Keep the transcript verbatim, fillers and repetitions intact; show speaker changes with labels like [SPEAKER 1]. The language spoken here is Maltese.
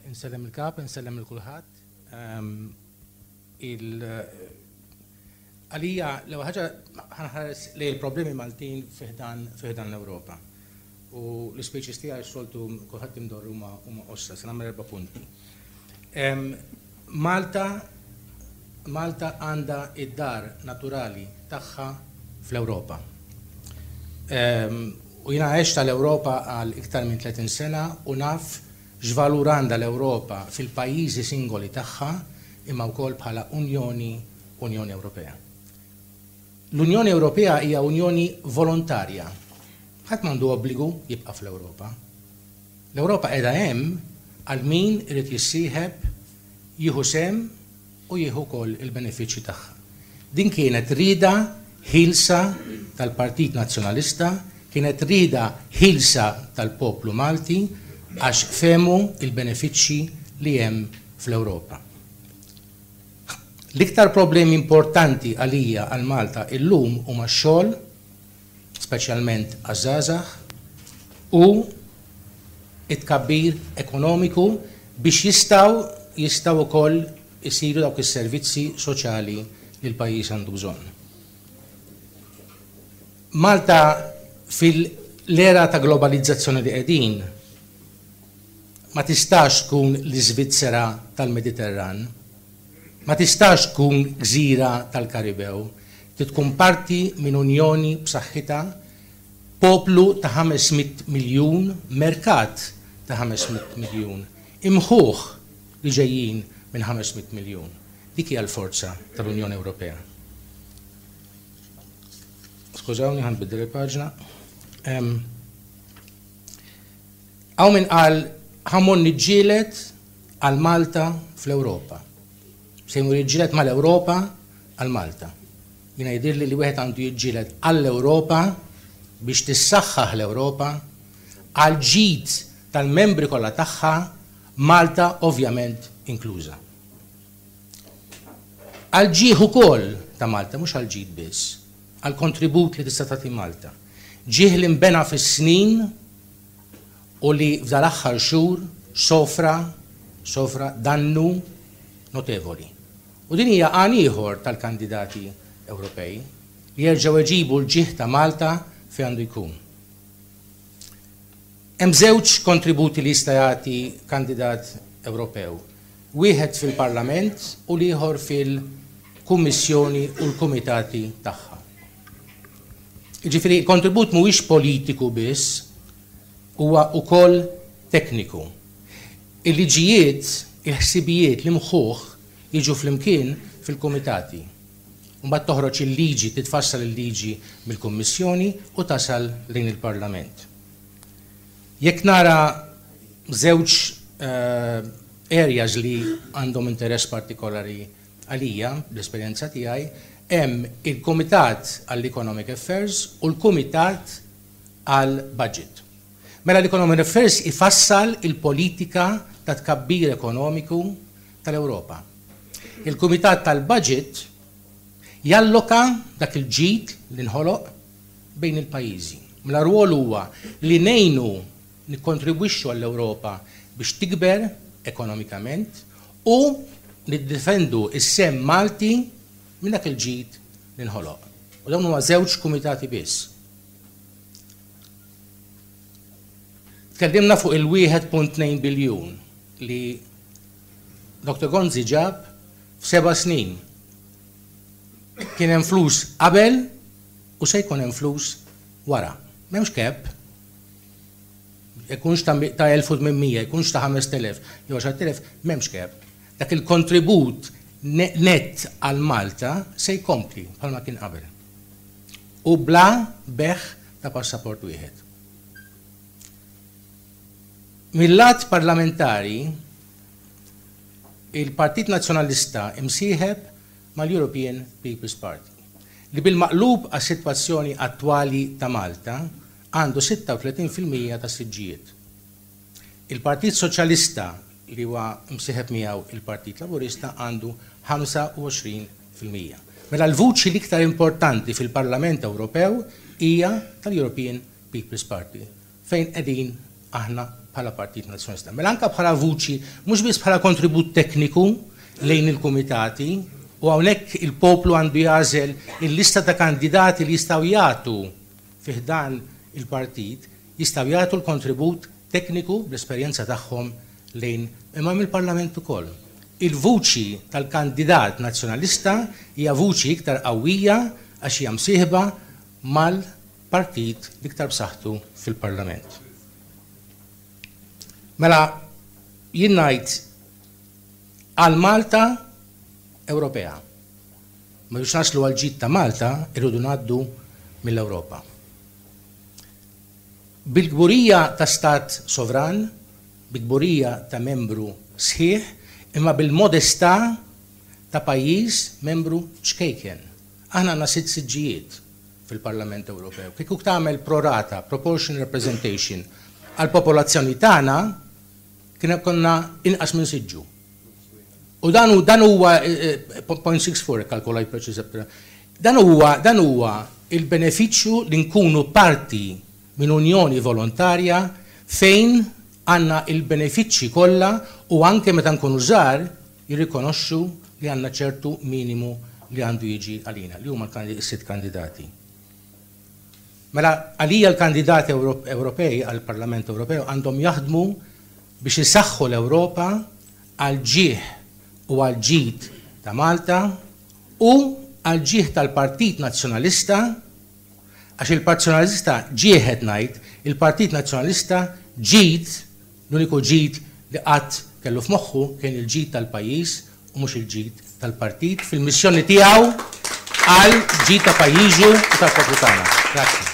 [SPEAKER 1] Insellem il-kap, insellem il-kulħadd. Il għalija l-ewwel ħaġa ħa nħares li l-problemi Maltin fi ħdan fi ħdan l-Ewropa. U l-ispeeches tiegħi soltu kulħadd imdorr huma huma qosra, se nagħmel erba' punti. Malta Malta għandha id-dar naturali tagħha fl-Ewropa. U jiena għext tal-Ewropa għal iktar minn tletin sena u naf x'valur għandha l-Ewropa fil-pajjiżi singoli tagħha imma wkoll bħala Unjoni Unjoni Ewropea. L-Unjoni Ewropea hija unjoni volontarja. Ħadd m'għandu obbligu jibqa' fl-Ewropa. L-Ewropa qiegħda hemm għal min irid jissieħeb, jieħu sehem u jieħu wkoll il-benefiċċji tagħha. Din kienet rieda ħielsa tal-Partit Nazzjonalista, kienet rieda ħielsa tal-poplu Malti għax fehmu il-benefiċċji li hemm fl-Ewropa. L-iktar problemi importanti għalija għal Malta illum huma x-xogħol, speċjalment għaż-żgħażagħ, u it-tkabbir ekonomiku biex jistgħu jistgħu wkoll isiru dawk is-servizzi soċjali li l-pajjiż għandu bżonn. Malta fil-era ta' globalizzazzjoni li qegħdin ma tistax tkun l-Iżvizzera tal-Mediterran, ma tistax tkun gżira tal-Karibew, tkun parti minn unjoni b'saħħitha, poplu ta' ħames mitt miljun, merkat ta' ħames mitt miljun, imħuħ li ġejjin minn ħames mitt miljun. Dik hija l-forza tal-Unjoni Ewropea. Skużawni, ħa nbiddel il-paġna. Hawn min qal ħa mmur niġġieled għal Malta fl-Ewropa. Se jmur jiġġieled mal-Ewropa għal Malta. Jiena jidhirli li wieħed għandu jiġġieled għall-Ewropa biex tissaħħaħ l-Ewropa għal ġid tal-membri kollha tagħha, Malta ovvjament inkluża. Għal ġieħ ukoll ta' Malta, mhux għal ġid biss, għal kontribut li tista' tagħti Malta. Ġieħ li nbena fis-snin u li f'dal-aħħar xhur sofra sofra dannu notevoli. U din hija għan ieħor tal-kandidati Ewropej li jerġgħu jġibu l-ġieħ ta' Malta fejn għandu jkun. Hemm żewġ kontributi li jista' jagħti kandidat Ewropew. Wieħed fil-Parlament u l-ieħor fil-Kummissjoni u l-Kumitati tagħha. Jiġifieri l-kontribut mhuwiex politiku biss, huwa wkoll tekniku. Il-liġijiet, il-ħsibijiet, l-imħuħ jiġu flimkien fil-kumitati. Mbagħad toħroġ il-liġi, titfassal il-liġi mill-Kummissjoni u tasal lejn il-Parlament. Jekk nara żewġ areas li għandhom interess partikolari għalija, l-esperjenza tiegħi, hemm il-Kumitat għall-Economic Affairs u l-Kumitat għall-Budget. Mela l-Economic Affairs ifassal il-politika ta' tkabbir ekonomiku tal-Ewropa. Il-Kumitat tal-Budget jalloka dak il-ġid li nħoloq bejn il-pajjiżi. Mela rwol huwa li ngħinu nikkontribwixxu għall-Ewropa biex tikber ekonomikament u niddefendu is-sem Malti minn dak il-ġid li nħoloq. U dawn huma żewġ kumitati biss. Tkellimna fuq il-wieħed punt tnejn biljun li Doktor Gonzi ġab f'seba' snin. Kien hemm flus qabel u se jkun hemm flus wara. M'hemmx cap. Jkunx ta' elf u tmien mija, jkunx ta' ħamest elef, jew għaxart elef, m'hemmx cap. Dak il-kontribut net għal Malta se jkompli bħalma kien qabel. U bla beħ ta' passaport wieħed. Mill-lat parlamentari, il-Partit Nazzjonalista imsieħeb mal-European People's Party, li bil-maqlub għas-sitwazzjoni attwali ta' Malta għandu sitta u tletin fil-mija ta' siġġijiet. Il-Partit Soċjalista li huwa msieħeb miegħu il-Partit Laburista għandu ħamsa u għoxrin fil-mija. Mela l-vuċi l-iktar importanti fil-Parlament Ewropew hija tal-European People's Party, fejn qegħdin aħna bħala Partit Nazzjonalista. Mela anke bħala vuċi, mhux biss bħala kontribut tekniku lejn il-kumitati, u hawnhekk il-poplu għandu jagħżel il-lista ta' kandidati li jistgħu jagħtu fi ħdan il-partit, jistgħu jagħtu l-kontribut tekniku bl-esperjenza tagħhom lejn imma mill-Parlament ukoll. Il-vuċi tal-kandidat nazzjonalista hija vuċi iktar qawwija għax hija msieħba mal-partit l-iktar b'saħħtu fil-Parlament. Mela jien ngħid għal Malta Ewropea. Ma biex naslu għal ġid ta' Malta irridu ngħaddu mill-Ewropa. Bil-kburija ta' stat sovran, bil-kburija ta' membru sħiħ, imma bil-modestà ta' pajjiż membru ċkejken. Aħna għandna sitt siġġijiet fil-Parlament Ewropew. Kieku tagħmel prorata, proportional representation, għal-popolazzjoni tagħna kien konna inqas minn siġġu. U dan dan huwa zero point six four kalkolaj preċiża. Dan huwa dan huwa il-benefiċċju li nkunu parti minn unjoni volontarja fejn għandna il-benefiċċji kollha u anke meta nkunu żgħar jirrikonoxxu li għandna ċertu minimu li għandu jiġi għalina, li huma s-sitt kandidati. Mela għalija l-kandidati Ewropej għall-Parlament Ewropew għandhom jaħdmu biex isaħħu l-Ewropa għal ġieħ u għal ġid ta' Malta u għal ġieħ tal-Partit Nazzjonalista, għax il-Partit Nazzjonalista ġieħet ngħid, il-Partit Nazzjonalista ġid, l-uniku ġid li qatt kellu f'moħħu kien il-ġid tal-pajjiż u mhux il-ġid tal-partit fil-missjoni tiegħu għal ġid ta' pajjiżu u tal-poplu tagħna. Grazzi.